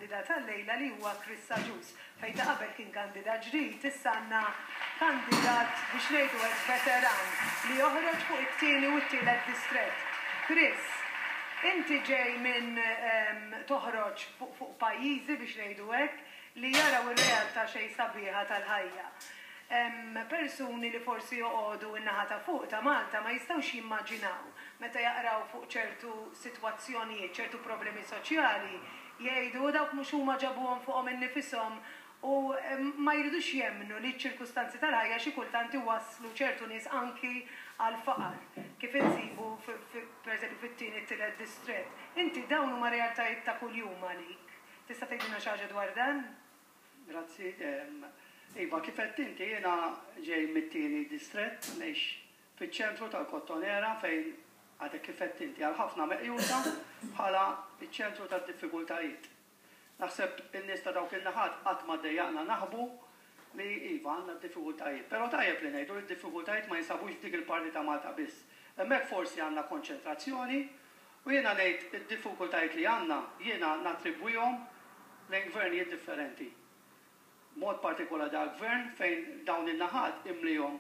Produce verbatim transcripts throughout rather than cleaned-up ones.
Kandidat għal-lejla li huwa Chris Agius. Fejn ta' qabel kien kandidat ġdid, issa għandna kandidat biex ngħidu hekk veteran li joħroġ fuq it-tieni u t-tielet distrett. Chris, inti ġej minn toħroġ fuq pajjiżi biex ngħidu hekk li jaraw ir-realtà xejn sabiħa tal-ħajja. Persuni li forsi joqogħdu in-naħa ta' fuq ta' Malta ma jistgħux jimmaġinaw meta jaqraw fuq ċertu sitwazzjonijiet, ċertu problemi soċjali, jgħidu dawk mhux huma ġabuhom fuqhom innifishom u ma jridux jemmnu li ċ-ċirkustanzi tal-ħajja xi kultant iwasslu ċertu nies anki għal faqar, kif insibu pereżempju fit-tieni t-tielet distrett. Inti dawn huma realtajiet ta' kuljum għalik. Tista' tgħidilna xi ħaġa dwar dan? Grazzi. Iva, kif għedt inti, jiena ġej mit-tieni distrett, ngħix fiċ-ċentru tal-Kottonera fejn għadek kif għedt inti għal ħafna meqjusa bħala iċ-ċentru tad-diffikultajiet. Naħseb in-nies ta' dawk in-naħat qatt ma ddejjaqna naħbu li iva għandna d-diffikultajiet. Però tajjeb li ngħidu li d-diffikultajiet ma jinsabux f'dik il-parti ta' Malta biss. Hemmhekk forsi għandna konċentrazzjoni u jiena ngħid id-diffikultajiet li għandna jiena nattribwihom lejn gvernijiet differenti. Mod partikolari dal gvern fejn dawn in-naħat imlihom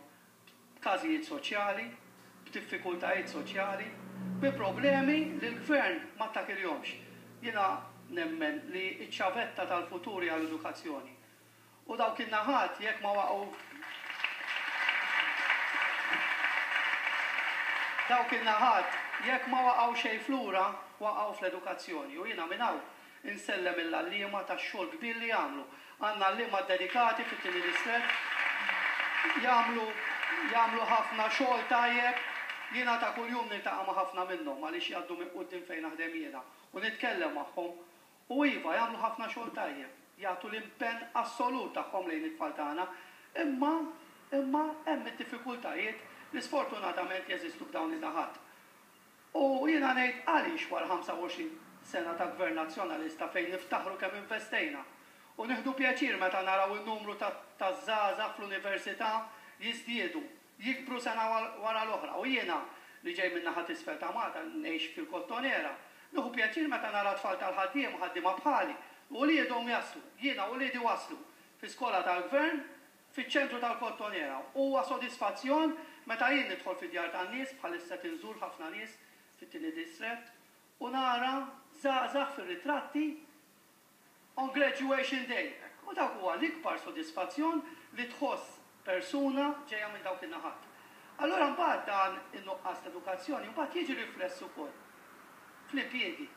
b'każijiet soċjali, b'diffikultajiet soċjali, bi problemi li l-gvern ma ttakilhomx. Jiena nemmen li ċ-ċavetta tal-futur hija l-edukazzjoni. U dawk in-naħat jekk ma waqgħu dawk in-naħat jekk ma waqgħu xejn flura, waqgħu fl-edukazzjoni. U jiena minn hawn insellem il-għalliema tax-xogħol kbir li jagħmlu. Għandna għalliema dedikati fit-tieni distrett, jagħmlu jagħmlu ħafna xogħol tajjeb. Jiena ta' kuljum niltaqa' ma' ħafna minnhom għaliex jgħaddu minn quddiem fejn naħdem jiena u nitkellem magħhom. U iva jagħmlu ħafna xogħol tajjeb, jagħtu l-impenn assolut tagħhom lejn it-tfal tagħna, imma imma hemm id-diffikultajiet li sfortunatament jeżistu f'dawn in-naħat. U jiena ngħid għaliex wara ħamsa u għoxrin sena ta' gvern nazzjonalista fejn niftaħru kemm investejna u nieħdu pjaċir meta naraw in-numru ta' żgħażagħ fl-università jiżdiedu, jikbru sena wara l-oħra. U jiena li ġej minn naħa t'isfel ta' Malta, ngħix fil-Kottonera, nieħu pjaċir meta nara tfal tal-ħaddiem u ħaddiema bħali u uliedhom jaslu, jiena u uliedi waslu fi skola tal-gvern fiċ-ċentru tal-Kottonera. Huwa sodisfazzjon meta jien nidħol fid-djar tan-nies, bħalissa tinżur ħafna nies fit-tieni distrett, u nara żgħażagħ fir-ritratti on graduation day. U dak huwa l-ikbar sodisfazzjon li tħoss persuna ġejja minn dawk in-naħat. Allura mbagħad dan in-nuqqas ta' edukazzjoni mbagħad jiġi rifless ukoll fl-impjiegi.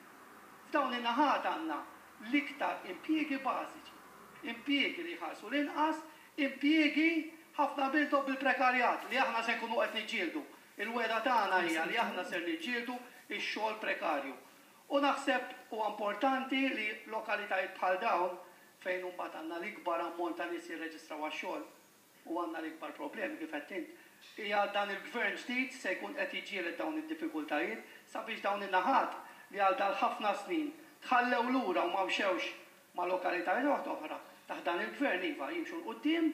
F'dawn in-naħat għandna l-iktar impjiegi bażiċi, impjiegi li jħallsu l-inqas, impjiegi ħafna minnhom bil-prekarjat li aħna se nkunu qed niġġieldu. Il-wegħda tagħna hija li aħna ser niġġieldu x-xogħol prekarju. U naħseb huwa importanti li lokalitajiet bħal dawn fejn imbagħad għandna l-ikbar ammont ta' nies jirreġistraw għax-xogħol u għandna l-ikbar problemi kif qed int, hija dan il-gvern ġdid se jkun qed jiġġieled dawn id-diffikultajiet sabiex dawn in-naħat li għal dal ħafna snin tħallew lura u ma mxewx ma' lokalitajiet oħra taħt dan il-gvern iva jimxu 'l quddiem,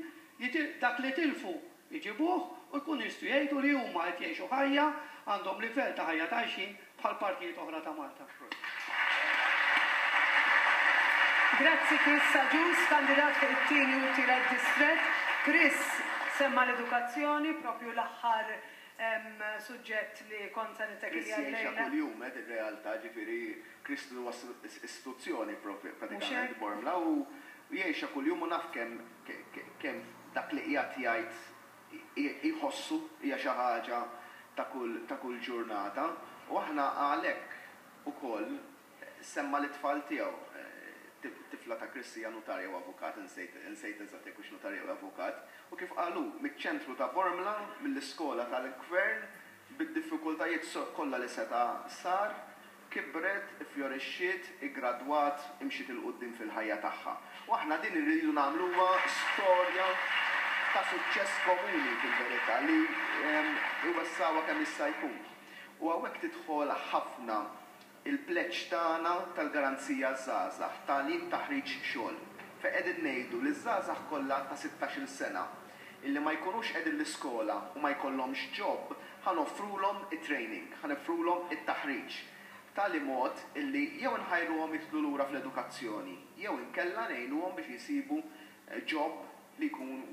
dak li tilfu jġibuh u jkunu jistgħu jgħidu li huma qed jgħixu ħajja, għandhom livell ta' ħajja tajxin bħal partijiet oħra ta' Malta. Grazzi Chris Agius, kandidat fuq it-tieni u t-tielet distrett. Chris semma l-edukazzjoni, propju l-aħħar suġġett li kont se nittekilja Chris jgħixha llejla. kuljum, eh, ir-realtà, ġifieri Chris huwa istituzzjoni propju pratikament Bormla u jgħixha kuljum u naf kemm kemm dak li qiegħed jgħid jħossu hija xi ħaġa ta' kull ta' kull ġurnata u aħna għalhekk ukoll semma l-itfal tiegħu. Tifla ta' Chris hija notarja u avukat, insejt eżatt jekk hux notarja u avukat, u kif qalu miċ-ċentru ta' Bormla, mill-iskola tal-gvern, bid-diffikultajiet kollha li seta' sar, kibret, ifjorixxiet, iggradwat, imxiet 'il quddiem fil-ħajja tagħha. U aħna din irridu nagħmluha storja ta' suċċess komuni fil-verità li iwessawha kemm jista' jkun. U hawnhekk tidħol ħafna il-pleġġ tagħna tal-garanzija żgħażagħ, tagħlim, taħriġ, xogħol. Fejn qegħdin ngħidu li żgħażagħ kollha ta' sittax-il sena illi ma jkunux qegħdin l-iskola u ma jkollhomx job, ħa noffrulhom it-training, ħa noffrulhom it-taħriġ. B'tali mod illi jew nħajruhom jidħlu lura fl-edukazzjoni, jew inkella ngħinuhom biex jisibu job li jkun